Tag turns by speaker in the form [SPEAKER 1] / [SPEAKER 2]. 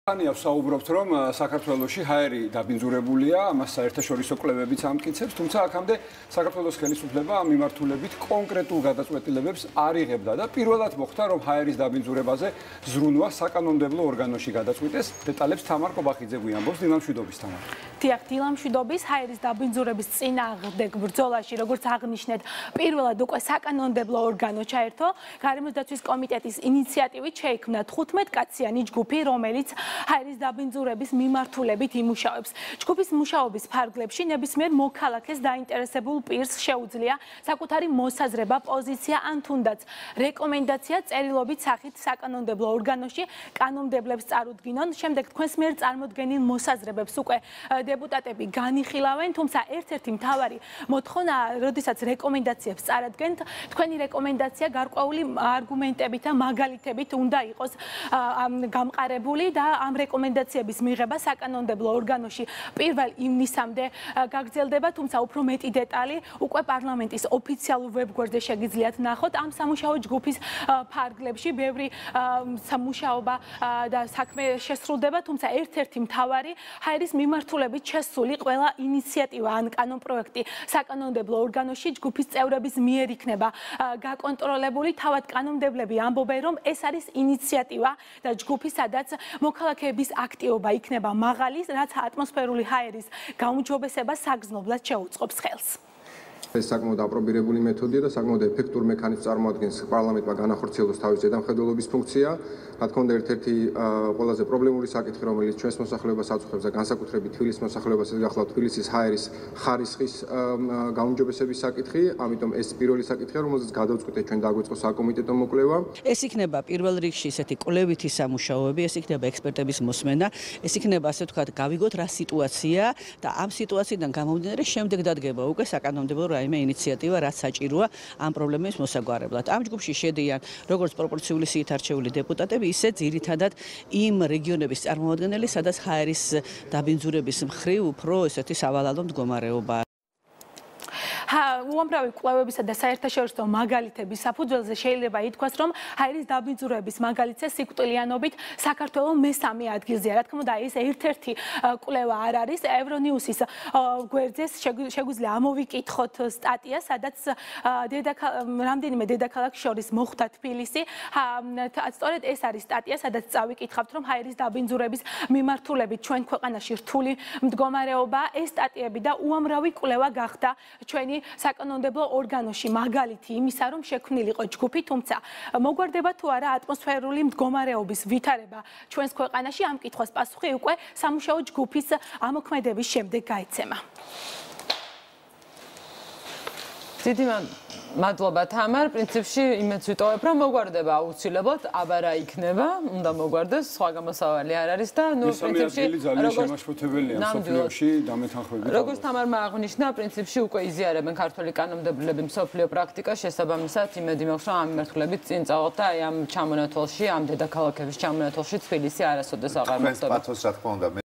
[SPEAKER 1] Ania საუბრობთ, რომ საქართველოში ჰაერი დაბინძურებულია, ამას საერთაშორისო კვლევებიც ამტკიცებს, თუმცა აქამდე საქართველოს ხელისუფლება ამ მიმართულებით კონკრეტულ გადაწყვეტილებებს არ იღებდა და პირველად მოხდა, რომ ჰაერის დაბინძურებაზე ზრუნვა საკანონმდებლო ორგანოში გადაწყვიტეს. დეტალებს თამარ კობახიძე გვიამბობს. დილამშვიდობის თამარ.
[SPEAKER 2] დიახ, დილამშვიდობის. ჰაერის დაბინძურების წინააღმდეგ ბრძოლაში, როგორც აღნიშნეთ, პირველად უკვე საკანონმდებლო ორგანო ჩაერთო. გარემოს დაცვის კომიტეტის ინიციატივით შეიქმნა 15 კაციანი ჯგუფი, რომელიც ჰაერის დაბინძურების მიმართულებით იმუშავებს. ჯგუფის მუშაობის ფარგლებში ნებისმიერ მოქალაქეს დაინტერესებულ პირს შეუძლია საკუთარი მოსაზრება, პოზიცია ან თუნდაც რეკომენდაცია წერილობით სახით საკანონმდებლო ორგანოში კანონმდებლებს წარუდგინონ. შემდეგ თქვენს მიერ წარმოდგენილ მოსაზრებებს უკვე დეპუტატები განიხილავენ, თუმცა ერთ-ერთი მთავარი მოთხოვნაა, როდესაც რეკომენდაციებს წარადგენთ, თქვენი რეკომენდაცია გარკვეული არგუმენტებით და მაგალითებით უნდა იყოს გამყარებული და ამ რეკომენდაციების მიღება საკანონმდებლო ორგანოში 1 ივნისამდე გაგრძელდება, თუმცა უფრო მეტი დეტალი უკვე პარლამენტის ოფიციალურ ვებგვერდზე შეგიძლიათ ნახოთ. ამ სამუშაო ჯგუფის ფარგლებში ბევრი სამუშაობა და საქმე შესრულდება, თუმცა ერთ-ერთი მთავარი ჰაერის მიმართულებით შესული ყველა ინიციატივა ან კანონპროექტი საკანონმდებლო ორგანოში ჯგუფის წევრების მიერ იქნება გაკონტროლებული. თავად კანონმდებლები ამბობენ, რომ ეს არის ინიციატივა და ჯგუფი, სადაც მოქალაქეების აქტივობა იქნება მაღალი, რაც ატმოსფერული ჰაერის გაუმჯობესებას საგრძნობლად შეუწყობს ხელს.
[SPEAKER 3] ეს საკმაოდ აპრობირებული მეთოდია და საკმაოდ ეფექტურ მექანიზმს წარმოადგენს პარლამენტმა განახორციელოს თავის ზედამხედველობის ფუნქცია. რა თქმა უნდა, ერთ-ერთი ყველაზე პრობლემური საკითხი, რომელიც ჩვენს მოსახლეობას აწუხებს და განსაკუთრებით თბილისის მოსახლეობას, ეს გახლავთ თბილისის ჰაერის ხარისხის გაუმჯობესების საკითხი. ამიტომ ეს პირველი საკითხია, რომელზეც გადავწყვიტეთ ჩვენ დაგვიწყოს საკომიტეტო მოკვლევა.
[SPEAKER 4] ეს იქნება პირველ რიგში ესეთი კვლევითი სამუშაოები, ეს იქნება ექსპერტების მოსმენა, ეს იქნება ასე ვთქვათ, გავიგოთ რა სიტუაცია და ამ სიტუაციიდან გამომდინარე შემდეგ დადგება უკვე საკანონმდებლო რაიმე ინიციატივა, რაც საჭიროა ამ პრობლემის მოსაგვარებლად. ამ ჯგუფში შედიან როგორც პროპორციული სიით არჩეული დეპუტატები, ისე ძირითადად იმ რეგიონების წარმომადგენელი, სადაც ჰაერის დაბინძურების მხრივ უფრო ესეთი სავალალო მდგომარეობაა.
[SPEAKER 2] უამრავი კვლევებისა და საერთაშორისო მაგალითების საფუძველზე შეიძლება ითქვას, რომ ჰაერის დაბინძურების მაგალითზე სიკვდილიანობით საქართველოს მესამე ადგილზეა. რა თქმა უნდა, ეს ერთ-ერთი კვლევა არ არის. ევრონიუსის გვერდზე შეგვიძლია ამოვიკითხოთ სტატია, სადაც რამდენიმე დედაქალაქს შორის მოხვდა თბილისი. სწორედ ეს არის სტატია, სადაც წავიკითხავთ, რომ ჰაერის დაბინძურების მიმართულებით ჩვენ ქვეყანაში რთული მდგომარეობაა. ეს სტატიები და უამრავი კვლევა გახდა ჩვენი საკანონმდებლო ორგანოში მაგალითი იმისა, რომ შექმნილიყო ჯგუფი, თუმცა მოგვარდება თუ არა ატმოსფერული მდგომარეობის ვითარება ჩვენს ქვეყანაში. ამ კითხვას პასუხი უკვე სამუშაო ჯგუფის ამოქმედების შემდეგ გაეცემა.
[SPEAKER 5] დიდი მადლობა თამარ. პრინციპში იმედს ვიტოვებ, რომ მოგვარდება აუცილებლად, აბა რა იქნება, უნდა მოგვარდეს, სხვა გამოსავალი არ არის და პრინციპში
[SPEAKER 1] ძალიან შემაშფოთებელია მსოფლიოში დამეთანხმებით.
[SPEAKER 5] როგორც თამარმა აღნიშნა, პრინციპში უკვე იზიარებენ ქართველი კანონმდებლები მსოფლიო პრაქტიკას, შესაბამისად იმედი მაქვს, რომ ამ მიმართულებით წინ წავალთ და აი ამ ჩამონათვალში, ამ დედაქალაქების ჩამონათვალში თბილისი არასოდეს აღარ მოხდება.
[SPEAKER 6] თქვენს პათოს რა თქმა უნდა